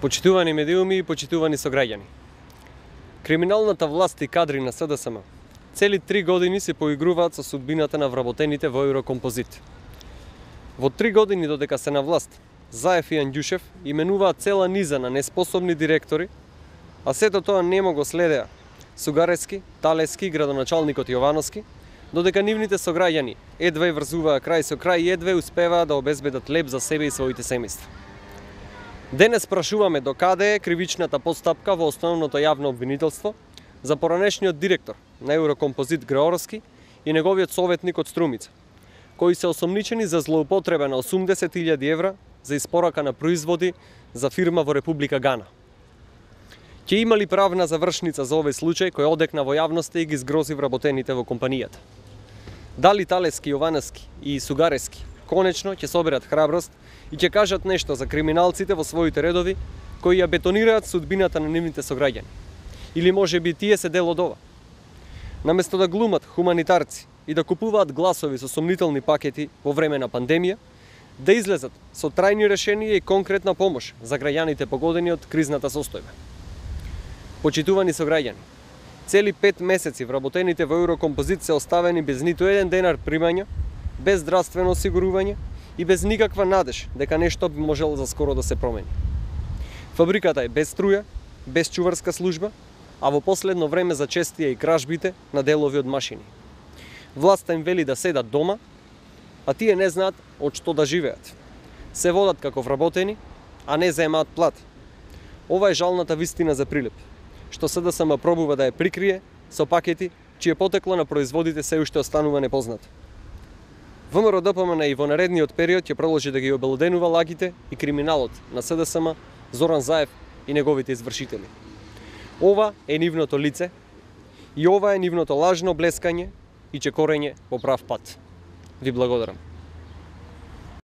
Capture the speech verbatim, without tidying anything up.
Почитувани медиуми и почитувани сограѓани. Криминалната власт и кадри на СДСМ цели три години се поигруваат со судбината на вработените во Еврокомпозит. Во три години додека се на власт, Заев и Анѓушев именуваат цела низа на неспособни директори, а сето тоа немо го следеа Сугарески, Талески и градоначалникот Јовановски, додека нивните сограѓани едвај врзуваа крај со крај и едвај успеваа да обезбедат леп за себе и своите семејства. Денес прашуваме до каде е кривичната постапка во основното јавно обвинителство за поранешниот директор на Еврокомпозит Греоровски и неговиот советник од Струмица, кои се осомничени за злоупотреба на осумдесет илјади евра за испорака на производи за фирма во Република Гана. Ќе има ли правна завршница за овој случај кој одекна во јавноста и ги згрози вработените во компанијата? Дали Талески, Јовановски и Сугарески конечно ќе соберат храброст и ќе кажат нешто за криминалците во своите редови кои ја бетонираат судбината на нивните сограѓани? Или може би тие се дел од ова? Наместо да глумат хуманитарци и да купуваат гласови со сомнителни пакети во време на пандемија, да излезат со трајни решенија и конкретна помош за граѓаните погодени од кризната состојба. Почитувани сограѓани, цели пет месеци вработените во Еврокомпозит се оставени без ниту еден денар примања, без здравствено осигурување и без никаква надеж дека нешто би можело за скоро да се промени. Фабриката е без струја, без чуварска служба, а во последно време зачестија и кражбите на делови од машини. Власта им вели да седат дома, а тие не знаат од што да живеат. Се водат како вработени, а не земаат плат. Ова е жалната вистина за Прилеп, што СДСМ пробува да ја прикрие со пакети чие потекло на производите се уште останува непознато. ВМРО Д П М Н и во наредниот период ќе продолжи да ги обелоденува лагите и криминалот на СДСМ, Зоран Заев и неговите извршители. Ова е нивното лице и ова е нивното лажно блескање и чекорење по прав пат. Ви благодарам.